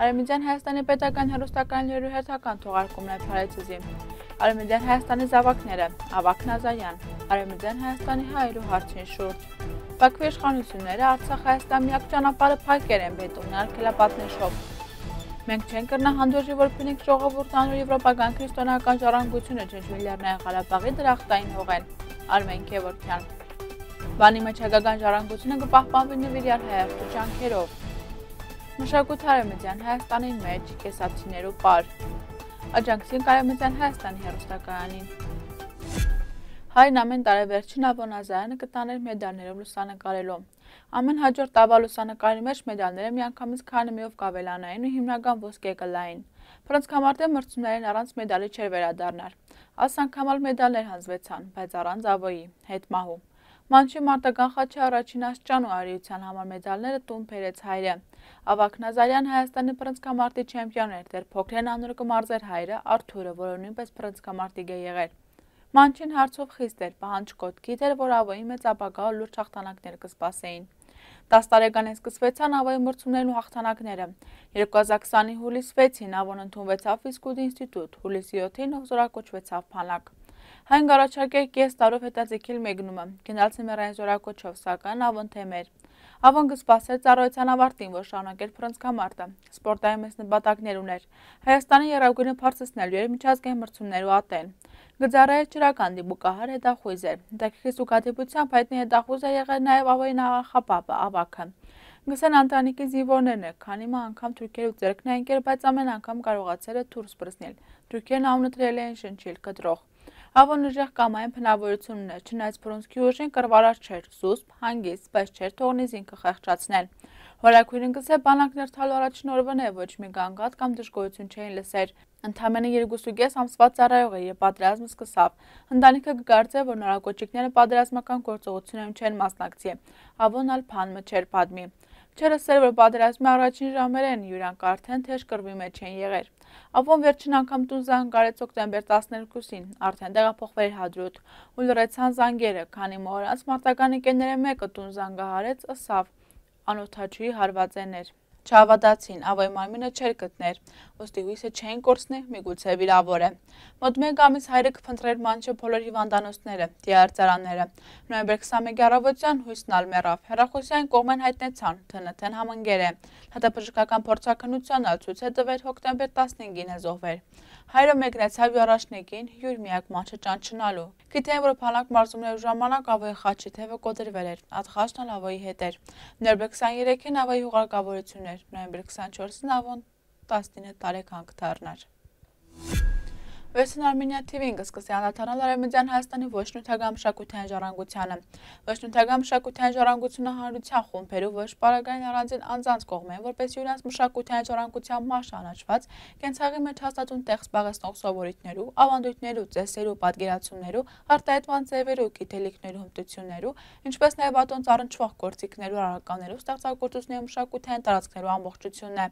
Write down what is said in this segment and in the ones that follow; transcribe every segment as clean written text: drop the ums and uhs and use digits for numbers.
Արևմտյան Հայաստանի պետական հեռուստակայանների հերթական թողարկումն է Փարեզի։ Արևմտյան Հայաստանի զավակները, Ավագ Նազարյան, Արևմտյան Հայաստանի հայերու հարցին շուրջ։ Բաքվի իշխանությունները Արցախ-Հայաստան միակ ճանապարհը փակել են բետոնի արգելապատնեշով։ Մենք չենք կրնահանդուրժի, որ փնիկ ժողովուրդն անոր եվրոպական քրիստոնեական ժառանգությունը Ջնջվիլներնային Ղարաբաղի դրախտային հողեն։ Արմեն Քևորքյան։ Բանի մեջ հայկական ժառանգությունը կպահպանվի նվիրյալ հայաստու ջանքերով։ Մշակույթ Արևմտյան Հայաստանի մեջ կեսացիներու պար։ Աջակցին Արևմտյան Հայաստանի հեռուստակայանին։ Հայրն ամեն տարեվերջին Ավոն Նազարյանը կտաներ մեդալներով լուսանկարելով։ Ամեն հաջորդ տարվա լուսանկարի մեջ մեդալները միանգամից քանեմիով կավելանային ու հիմնական ոսկե կլային։ Փռնցքամարտի մրցումներին առանց մեդալի չէր վերադառնար։ Այս անգամ ալ մեդալներ հանձվեցան, բայց առանց Ավոյի, հետմահու։ Մանչի մարտական խաչի առաջին աստիճան ու արիության համար մեդալները տուն բերեց հայրը։ Ավագ Նազարյան Հայաստանի փռնցքամարտի չեմպիոն էր, դեռ փոքրեն անունը կմարզեր հայրը Արթուրը, որը նույնպես փռնցքամարտիկ է եղել։ Մանչին հարցով խիստ էր, պահանջկոտ գիտեր, որ Ավոյի մեծ ապագա լուրջ հաղթանակներ կսպասեին։ 10 տարեկանին սկսվեցան Ավոյի մրցումներն ու հաղթանակները։ 2020-ի հուլիս 6-ին Ավոն ընդունվեցավ ֆիզկուլտուրայի ինստիտուտ, հուլիսի 7-ին զորակոչվեցավ Փանակ։ Հայն առաջարկել կես տարով հետաձգել մեկնումը, գնալ ցեմերային զորակոչով, սակայն Ավոն թեմեր։ Ավոն կսպասեր ծառայության ավարտին, որ շարունակեր փռնցքամարտը։ Սպորտային մեծ նպատակներ ուներ։ Հայաստանի եռագույնը բարձրացնելու էր միջազգային մրցումներու ատեն։ Գծառայել ջրական դիպուկահար հետախույզ էր։ Հետաքրքիր զուգադիպությամբ հայտնի հետախույզ է եղել նաև Ավոյի նախապապը, Ավագը։ Գսեն ընտանիքի զինվորներն է, քանի մա անգամ թուրքերու ձեռքն է ընկել, բայց ամեն անգամ կարողացել է դուրս բռնել։ Թուրքերն անունը դրել էին շնչիլ կտրող։ Ավոն ուժեղ կամային բնավորություն ուներ, չնայած բռունցքի ուժին կռվարար չէր, զուսպ, հանգիստ, բայց չէր թողնի զինքը խեղճացնել։ Հորաքույրին գսե բանակներ թալու առաջին օրվան է ոչ մի գանգատ կամ դժգոհություն չէին լսեր։ Ընդամենը 2.5 ամսվա ծառայող էր, եւ պատերազմը սկսավ։ Ընտանիքը կգարձեր, որ նորակոճիկները պատերազմական գործողություններում չեն մասնակցի։ Ավոն ալ փանմը չէր պատմի։ Չէր ասել, որ պատերազմի առաջին ժամերեն յուրանք արդեն թեժ կռվի մեջ են եղել։ Ավոն վերջին անգամ տուն զանգարեց օկտեմբեր 12-ին, արդեն տեղափոխվել Հադրութ, ու լրացան զանգերը, քանի մորանց մարտական ընկերները մեկը տուն զանգահարեց, ըսավ անօթաչուի հարվածներ։ Չհավատացին, Ավոյի մարմինը չէր գտներ, ոստի հույսը չէին կորցնի, միգուցե վիրավոր է։ Մոտ մեկ ամիս հայրը կփնտրեր Մանչի բոլոր հիվանդանոցները, դիահարցարանները։ Նոյեմբեր 21 առավոտյան հույսն ալ մեռավ, հեռախոսային կողմեն հայտնեցան, ԹՆԹ-ն համընկեր է։ Հատապժկական փորձաքննության ալ ցույց է տվել հոկտեմբեր 15-ին է զոհվել։ Հայրը մեկնեցավ առաջնեկին հյուր միակ Մանչը ճանչնալու։ Գիտեն, որ Փանակ մարզումներու ժամանակ Ավոյի խաչի թևը կոտրվել էր, ատխաշն ալ Ավոյի հետ էր։ Նոյեմբեր 23-ին Ավոյի հուղարկավորություն էր, նոյեմբեր 24-ին Ավոն 19 տարեկան կդառնար։ Վերջին Armenia TV-ն կսկսի անդրադառնալ Արևմտյան Հայաստանի ոչ նյութական մշակութային ժառանգությանը։ Ոչ նյութական մշակութային ժառանգությունը հանրության խումբերու ոչ պարագային առանձին անձանց կողմեն, որպես յուրանց մշակութային ժառանգության մաս ճանաչված, կենցաղի մեջ հաստատուն տեղ զբաղեցնող սովորույթներու, ավանդույթներու, ծեսերու, պատկերացումներու, արտահայտման ձևերու, գիտելիքներու հմտություններու, ինչպես նաև ատոնց առնչվող գործիքներու, առարկաներու, ստեղծագործությունների մշակութային տարածքներու ամբողջությունն է։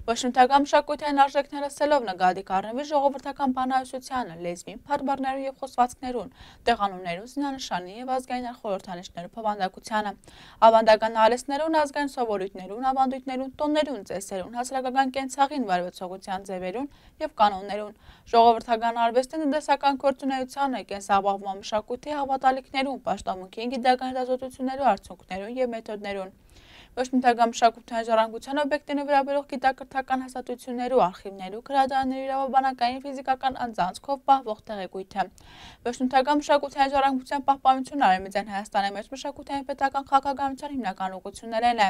Ոչ նյութական մշակութային արժեքները սելով նկատի կառնվի ժողովրդական բանահյուսությանը, լեզվին, փառաբառներուն եւ խոսվածքներուն, տեղանուններուն, զինանշանի եւ ազգային խորհրդանիշներու փոխանակությանը, ավանդական արհեստներուն, ազգային սովորույթներուն, ավանդույթներուն, տոններուն, ծեսերուն, հասարակական կենցաղին վարվեցողության ձևերուն եւ կանոններուն, ժողովրդական արվեստի տնտեսական գործունեությանը, կենսաբավման մշակույթի հավատալիքներուն, պաշտամունքի գիտական հետազոտություններու արդյունքներուն եւ մեթոդներուն։ Ոչ նյութական մշակութային ժառանգության օբյեկտին վերաբերող գիտակրթական հաստատություններու, արխիվներու, գրադարաններու, իրավաբանական, ֆիզիկական անձանցքով պահվող տեղեկույթը։ Ոչ նյութական մշակութային ժառանգության պահպանությունը Արևմտյան Հայաստանի մեջ մշակութային պետական քաղաքականության հիմնական ուղղություններն է։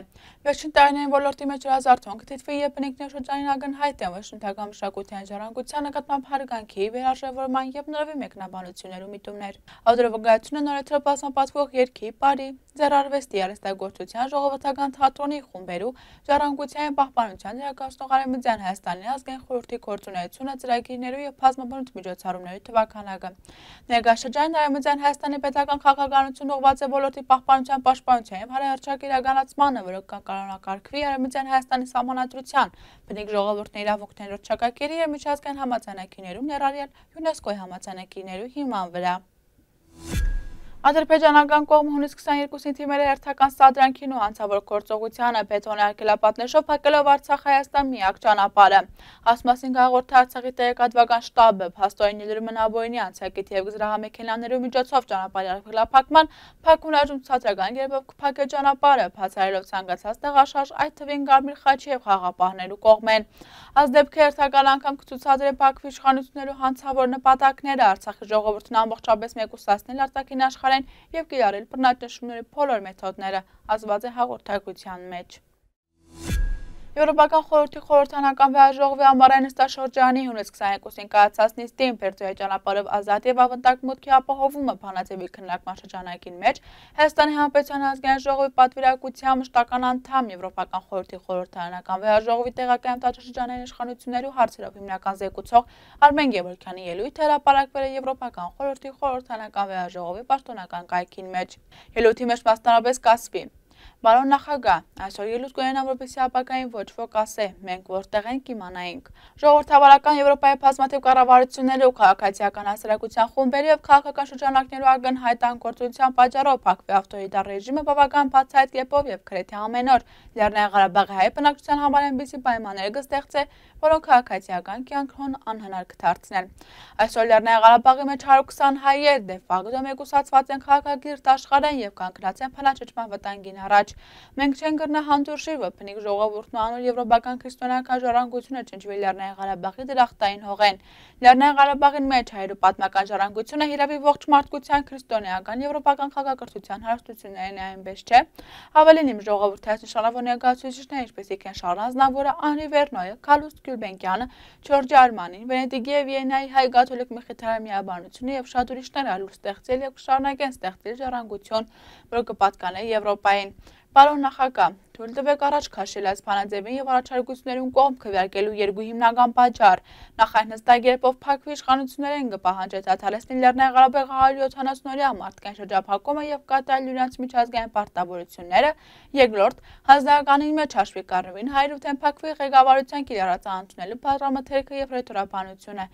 Վերջին տարիներին ոլորտի մեջ հրազարթոն կթիթվի եւ բնիկներ շրջանին ակնհայտ են ոչ նյութական մշակութային ժառանգության նկատմամբ հարգանքի, վերարժևորման եւ նորովի մեկնաբանություններու միտումներ։ Ավդրովգայությունը նորեթրը բազմապատկվող երգի, պարի, ձեռարվեստի, արհեստագործության, ժողովրդական թատրոնի խումբերու, ժառանգության պահպանության ներկայացնող Արևմտյան Հայաստանի ազգային խորհրդի գործունեությունը, ծրագիրներու եւ բազմաբնույթ միջոցառումների թվականակը։ Ներկայաշրջանին Արևմտյան Հայաստանի պետական քաղաքականությունը ուղղված է ոլորտի պահպանության, պաշտպանության եւ հարահրճակ իրականացմանը, որը կանոնակարգվի Արևմտյան Հայաստանի սահմանադրության, բնիկ ժողովուրդների իրավունքներու չակակերի եւ միջազգային համաձայնագիրներու ներառյալ ՅՈՒՆԵՍԿՕ-ի համաձայնագիրներու հիման վրա։ Ադրբեջանական կողմը հունիս 22-ին թիմերը հերթական սադրանքին ու հանցավոր գործողությանը բետոնե արգելապատնեշով փակելով Արցախ-Հայաստան միակ ճանապարհը։ Ասմասին հաղորդի Արցախի տեղեկատվական շտաբը փաստորեն ելրում են Աբոյնի անցակիտ և զրահամեքենաներու միջոցով ճանապարհի արգելափակման փակումնաժում ցածրական կերպով կփակե ճանապարհը, բացառելով ցանկացած տեղաշարժ, այդ թվին Կարմիր խաչի և խաղաղապահներու կողմեն։ Այս դեպքը հերթական անգամ կցուցադրի Բաքվի իշխանություններու հանցավոր նպատակները Արցախի ժողովրդին ամբողջապես մեկուսացնել արտաքին աշխարհին և կիրառել բռնաճնշումների բոլոր մեթոդները, ասված է հաղորդագրության մեջ։ Եվրոպական խորհրդի խորհրդանական վեհաժողովի ամառային նստաշրջանի հունիս 22-ին կայացած նիստին Բերձորի ճանապարհով ազատ և ավանդակ մուտքի ապահովումը բանաձևի քննարկման շրջանակին մեջ Հայաստանի Հանրապետության ազգային ժողովի պատվիրակությամբ մշտական անդամ Եվրոպական խորհրդի խորհրդարանական վեհաժողովի տեղական տարածաշրջանային իշխանություններու հարցերով հիմնական զեկուցող Արմեն Գևորգյանի ելույթը հրապարակվել է Եվրոպական խորհրդի խորհրդարանական վեհաժողովի պաշտոնական կայքին մեջ։ Ելույթի մեջ մասնավորապես կասվի. Բարոն նախագահ, այսօր ելույթ կունենամ, որպեսզի ապագային ոչ ոք ասե, մենք որտեղ ենք իմանայինք։ Ժողովրդավարական Եվրոպայի բազմաթիվ կառավարությունների ու քաղաքացիական հասարակության խումբերի և քաղաքական շրջանակներու ակնհայտ անկործության պատճառով Բաքվի ավտորիտար ռեժիմը բավական բացահայտ կերպով և գրեթե ամեն օր Լեռնային Ղարաբաղի հայ բնակչության համար այնպիսի պայմաններ կստեղծե, որոնք քաղաքացիական կյանքն անհնար կդարձնեն։ Այսօր Լեռնային Ղարաբաղի մեջ 120 հայեր դե ֆակտո մեկուսացված են քաղաքակիրթ աշխարհին և կանգնած են բնաճնշման վտանգին առաջ։ Մենք չենք կրնա հանդուրժի, որ բնիկ ժողովուրդն ու անոր եվրոպական քրիստոնեական ժառանգությունը ճնճվի Լեռնային Ղարաբաղի դրախտային հողեն։ Լեռնային Ղարաբաղին մեջ հայերու պատմական ժառանգությունը հիրավի ողջ մարդկության քրիստոնեական եվրոպական քաղաքակրթության հարստություններն է այնպես չէ։ Ավելին իմ ժողովրդի այս նշանավոր ներկայացուցիչները, ինչպեսիք են Շարլ Ազնավուրը, Անրի Վերնոյը, Քալուստ Գյուլբենկյանը, Ջորջի Արմանին, Վենետիկի և Վիեննայի հայ կաթոլիկ Մխիթարյանի միաբանությունը և շատ ուրիշներ այլ ստեղծել և կշարունակեն ստեղծել ժառանգություն, որը կպատկանե Եվրոպային։ Պարոն նախագահ, թույլ տվեք առաջ քաշել այս բանաձևին և առաջարկություններուն կողմ քվեարկելու երկու հիմնական պատճառ։ Նախ այն հստակ կերպով Բաքվի իշխանություններին կպահանջի դադարեցնել Լեռնային Ղարաբաղի 170-օրյա մարդկային շրջափակումը և կատարել իրենց միջազգային պարտավորությունները։ Երկրորդ, հանձնարարականին մեջ հաշվի կառնվին հայերու դեմ Բաքվի ղեկավարության կիրառած անընդունելի բազմաթերքը և ռետորաբանությունը,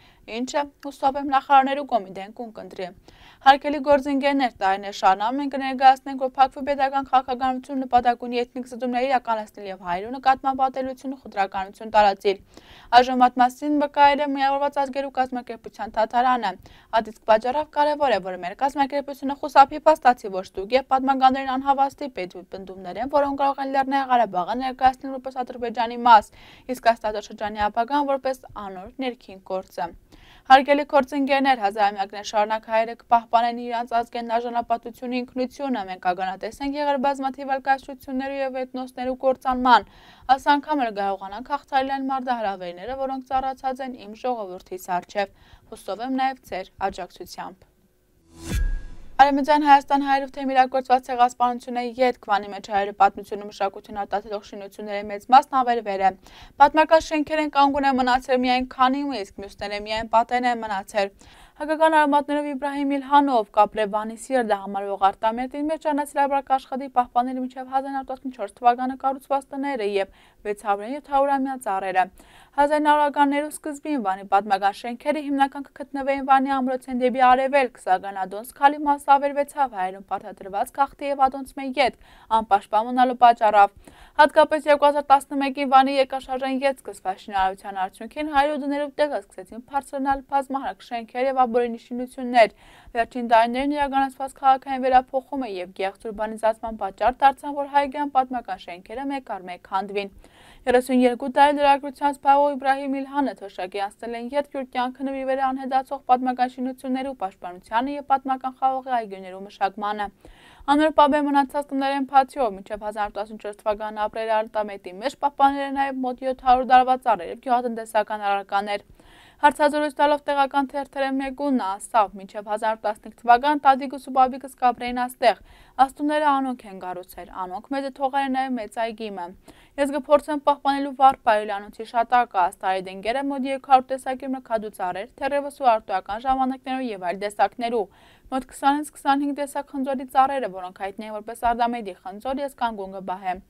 ինչը հուսով եմ նախարարներու կոմիտեն կընտրի։ Հարգելի գործընկերներ, տարիներ շարունակ մենք կներկայացնենք, որ Բաքվի պետական քաղաքականությունը նպատակ ունի էթնիկ զտումներ իրականացնել և հայերու նկատմամբ ատելություն ու խտրականություն տարածել։ Այժմ այդ մասին վկայել է Միավորված ազգերու կազմակերպության դատարանը։ Այդ իսկ պատճառով կարևոր է, որ մեր կազմակերպությունը խուսափի փաստացի ոչ ստուգ և պատմականներին անհավաստի պնդումներ են, որոնք կարող են Լեռնային Ղարաբաղը ներկայացնել որպես Ադրբեջանի մաս, իսկ այս տարածաշրջանի ապագան որպես անոր ներքին գործը։ Հարգելի գործընկերներ, հազարամյակներ շարունակ հայերը կպահպանեն իրենց ազգային արժանապատվությունը, ինքնությունը, մենք ականատես ենք եղել բազմաթիվ այլ կայսրություններու և էթնոսներու կործանման, այս անգամ էլ կարողանանք հաղթահարել այն մարտահրավերները, որոնք ծառացած են իմ ժողովրդիս առջև, հուսով եմ նաև ձեր աջակցությամբ։ Արևմտյան Հայաստան հայերու թեմ իրագործված ցեղասպանությունը յետ քվանի մեջ հայերու պատմությունը մշակույթին արտահայտող շինությունների մեծ մասն ավերվել է։ Պատմական շենքեր են կանգուն է մնացել միայն քանի, իսկ մյուսները միայն պատեն են մնացել։ Հայկական արմատներով Իբրահիմ Իլհանով Կապրեվանի Սիրդը համարվող արտամերտին մեջ անասիրաբար աշխատի պահպանել մինչև 1914 թվականը կառուցված տները և 600-700-ամյա ծառերը։ 1900-ականներու սկզբին Վանի պատմական շենքերը հիմնական կգտնվեին Վանի ամրոցեն դեպի արևելք, սակայն Ադոնց քալի մասը ավերվեցավ հայերուն պարտադրված քաղցի և Ադոնցմե յետ անպաշտպան մնալու պատճառով։ Հատկապես 2011-ին Վանի երկրաշարժային յետ սկսված շինարարության արդյունքին հայերու դներու տեղը սկսեցին բարձրանալ բազմահարկ շենքեր և աբորինի շինություններ։ Վերջին տարիներին իրականացված քաղաքային վերափոխումը և գեղձ ուրբանիզացման պատճառ դարձան, որ հայկական պատմական շենքերը մեկ առ մեկ քանդվին։ 32 տարի լրագրության զբաղվող Իբրահիմ Իլհանը թոշակի անցնել են յետ յուր կյանքը նվիրվել է անհետացող պատմական շինություններու պաշտպանությանը և պատմական խաղողի այգիներու մշակմանը։ Անոր պապե մնացած տներեն փաթիով մինչև 1914 թվականն ապրել արտամետի մեջ պահպանել է նաև մոտ 700 տարվա ծառեր և գյուղատնտեսական առարկաներ։ Հարցազրույց տալով տեղական թերթերը մեկունն ասավ, մինչև 1915 թվական տատիկս ու բաբիկս կապրեին աստեղ, աստուները անոնք են գառուցել, անոնք մեզը թողել են նաև մեծ այգիմը։ Ես կփորձեմ պահպանելու վառ պայել անոնցի շատակը, աստարի դենգերը մոտ 200 տեսակի մրգադու ծառեր, թերևս ու արտոյական ժամանակներու և այլ տեսակներու, մոտ 20-25 տեսակ խնձորի ծառերը, որոնք հայտնի են որպես Արդամեդի խնձոր, ես կանգուն կբահեմ։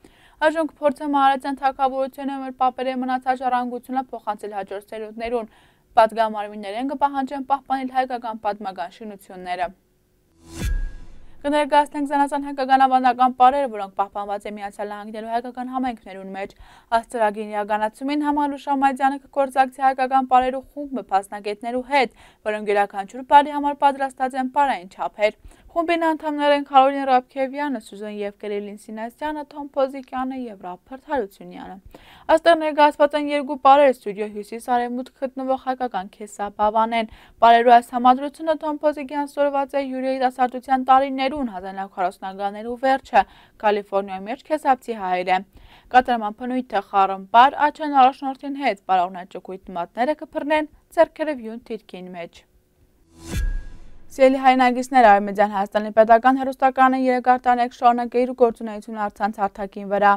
Այժմ կփորձեմ Արարատյան թագավորությունը մեր պապերի մնացած ժառանգությունը փոխանցել հաջորդ սերունդներուն, պատգամարմիններեն կպահանջեն պահպանել հայկական պատմական շինությունները։ Կներկայացնենք զանազան հայկական ավանդական պարերը, որոնք պահպանված է Միացյալ Նահանգներու հայկական համայնքներուն մեջ։ Ըստ ծրագրի իրականացումին Համալու Շամայդյանը կգործակցի հայկական պարերու խումբը փաստագետներու հետ, որոնք յուրաքանչյուր պարի համար պատրաստած են պարային չափեր։ Խումբին անդամներ են Կարոլին Ռաբքևյանը, Սուզան եւ Կիրիլին Սինասյանը, Թոմ Փոզիկյանը եւ Ռափերտ Հարությունյանը։ Այստեղ ներկայացված են երկու պարեր ստուդիո հյուսիս արևմուտք գտնվող հայկական քեսաբավան են։ Պարերու այս համադրությունը Թոմ Փոզիկյան ստորված է յուրահիտասարդության տարիներուն 1940-ականներու վերջը Կալիֆոռնիայի մեջ քեսապցի հայեր է։ Կատարման բնույթը խառնբար աչեն առաջնորդին հետ պարողներ ճկույտ մատները կփռնեն ձեռքերը վյուն թիրքին մեջ։ Սիրելի հայրենակիցներ, Արևմտյան Հայաստանի պետական հեռուստականը 3 տարի շարունակ է իր գործունեությունը առցանց հարթակին վրա։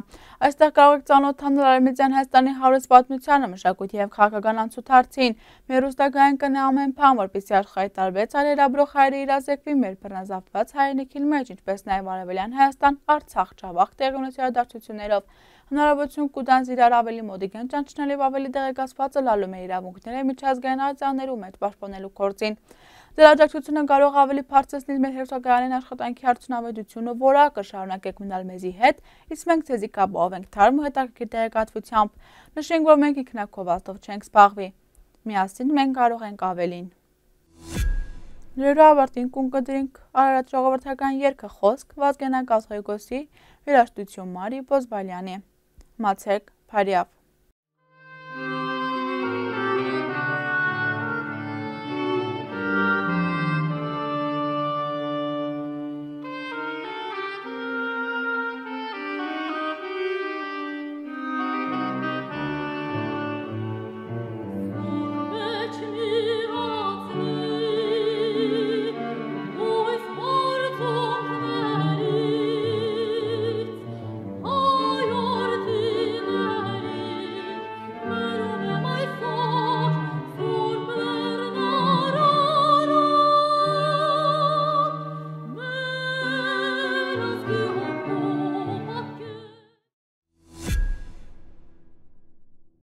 Այստեղ կարող եք ծանոթանալ Արևմտյան Հայաստանի հարուստ պատմությանը, մշակույթի եւ քաղաքական անցուդարձին։ Մեր հեռուստակայանը կնա ամեն բան, որպեսզի աշխարհի տարբեր ծայրերաբրող հայրը իրազեկվի մեր բռնազավթված հայրենիքի մեջ, ինչպես նաեւ Արևելյան Հայաստան, Արցախ, Ջավախ տեղի ունեցող իրադարձություններով։ Հնարավորություն կուտանց իրար ավելի մոտիկեն ճանչնելու ավելի տեղեկացված լալու մեր իրավունքները միջազգային արձաններու մեջ պաշտպանելու գործին։ Ձեր աջակցությունը կարող ավելի բարձրացնել մեր հեռուստակայանին աշխատանքի արդյունավետությունը, որակը շարունակեք մնալ մեզի հետ, իսկ մենք ձեզի կապահով ենք թարմ ու հետաքրքիր տեղեկատվությամբ։ Նշենք, որ մենք ինքնակովածով չենք զբաղվի։ Միասին մենք կարող ենք ավելին։ Լուրը ավարտին կունկդրինք Արարատ ժողովրդական երգը խոսք Վազգենակ Ղազղեգոսի երաժշտություն Մարի Բոզբալյանի։ Մացեք Փարիավ։